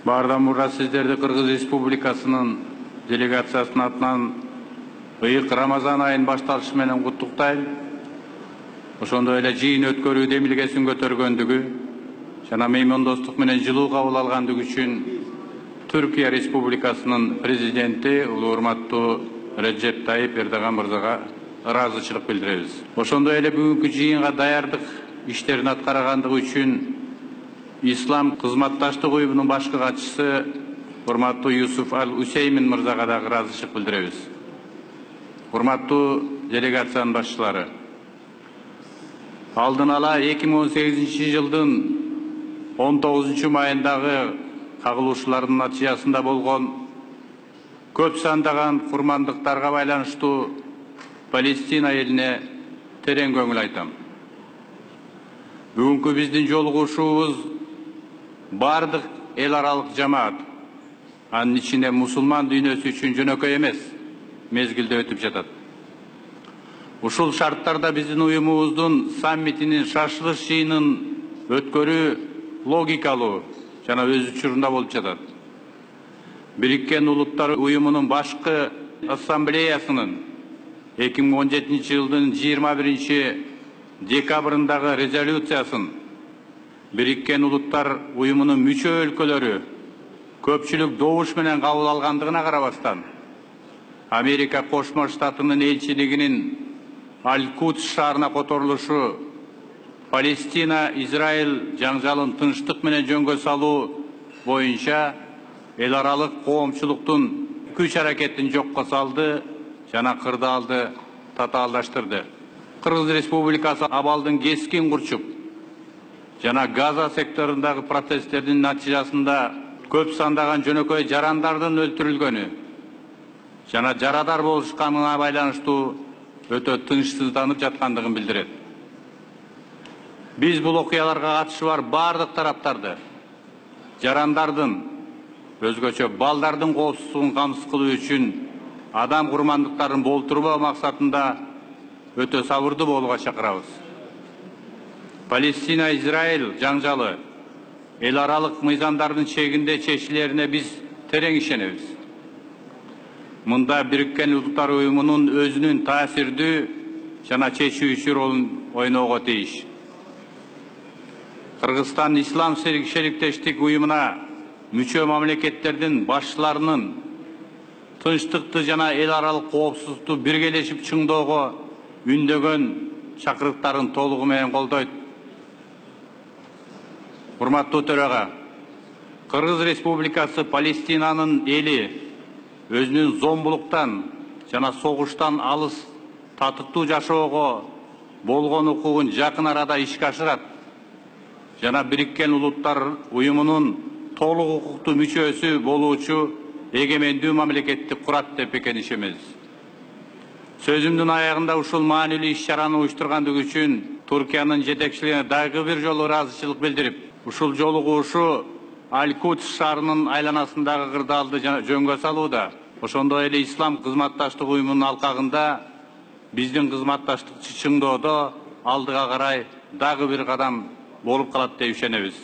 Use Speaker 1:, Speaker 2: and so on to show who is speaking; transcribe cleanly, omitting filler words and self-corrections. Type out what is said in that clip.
Speaker 1: Баардан мурда сиздерди Кыргыз Республикасынын делегациясынын атынан ыйык Рамазан айынын башталышы менен куттуктайм. Ошондой эле жыйын өткөрүү демилгесин көтөргөндүгү жана меймандостук менен жылуу кабыл алгандыгы үчүн Түркия Республикасынын президенти улуу урматтуу Реджеп Тайип Эрдоган мырзага ыраазычылык билдиребиз. Ошондой эле бүгүнкү жыйынга даярдык иштерин аткаргандыгы үчүн Ислам кызматташтык уюмунун башкы катчысы урматтуу Юсуф Ал-Усеймин мырзага дагы ыраазычылык билдиребиз. Урматтуу делегациянын башчылары, алдын ала 2018 жылдын 19 майындагы кагылышуулардын натыйжасында болгон көп сандаган курмандыктарга байланыштуу Палестина элине терең көңүл айтам. Бүгүнкү биздин жолугушуубуз бардык эл аралык жамаат, анын ичинде мусулман дүйнөсү үчүн жөнөкөй эмес мезгилде өтүп жатат. Ушул шарттарда биздин уюмубуздун саммитинин шашылыш жыйынын өткөрүү логикалуу жана өз учурунда болуп жатат. Бириккен Улуттар уюмунун башкы ассамблеясынын 2017 жылдын 21 декабрындагы резолюциясын Бириккен Улуттар уюмунун мүчө өлкөлөрү көпчүлүк добуш менен кабыл алгандыгына карабастан, Америка Кошмо Штатынын элчилигинин Аль-Кудс шаарына которулушу Палестина-Израиль жаңжалын тынчтык менен жөнгө салуу боюнча эл аралык коомчулуктун күч аракетин жокко салды жана кырдаалды татаалдаштырды. Кыргыз Республикасы абалдын кескин курчуп жана Газа секторундагы протесттердин натыйжасында көп сандаган жөнөкөй жарандардын өлтүрүлгөнү жана жарадар болушканына байланыштуу өтө тынчсызданып жаткандыгын билдирет. Биз бул окуяларга катышы бар бардык тараптарды жарандардын, өзгөчө балдардын коопсуздугун камсыз кылуу үчүн адам курмандыктарын болтурбоо максатында өтө сабырдуу болууга чакырабыз. Палестина-Израиль жаңжалы эл аралык мыйзамдардын чегинде чечилерине биз терең ишенебиз. Мында Бириккен Улуттар уюмунун өзүнүн таасирдүү жана чечүүчү ролун ойноого тийиш. Кыргызстан Ислам шериктештик уюмуна мүчө мамлекеттердин башчыларынын тынчтыкты жана эл аралык коопсуздукту биргелешип чыңдоого үндөгөн чакырыктарын толугу менен колдойт. Урматтуу төрага, Кыргыз Республикасы Палестинанын эли өзүнүн зомбулуктан жана согуштан алыс татыктуу жашоого болгон укугун жакын арада ишке ашырат жана Бириккен Улуттар уюмунун толук укуктуу мүчөсү болуучу эгемендүү мамлекетти курат деп бекем ишенебиз. Сөзүмдүн аягында ушул маанилүү иш-чараны уюштургандыгы үчүн Туркиянын жетекчилигине дагы бир жолу ыраазычылык билдирип, ушул жолугушуу Аль-Кудс шаарынын айланасындагы кырдаалды жөнгө салууда, ошондой эле Ислам кызматташтык уюмунун алкагында биздин кызматташтыкты чыңдоодо алдыга карай дагы бир кадам болуп калат деп ишенебиз.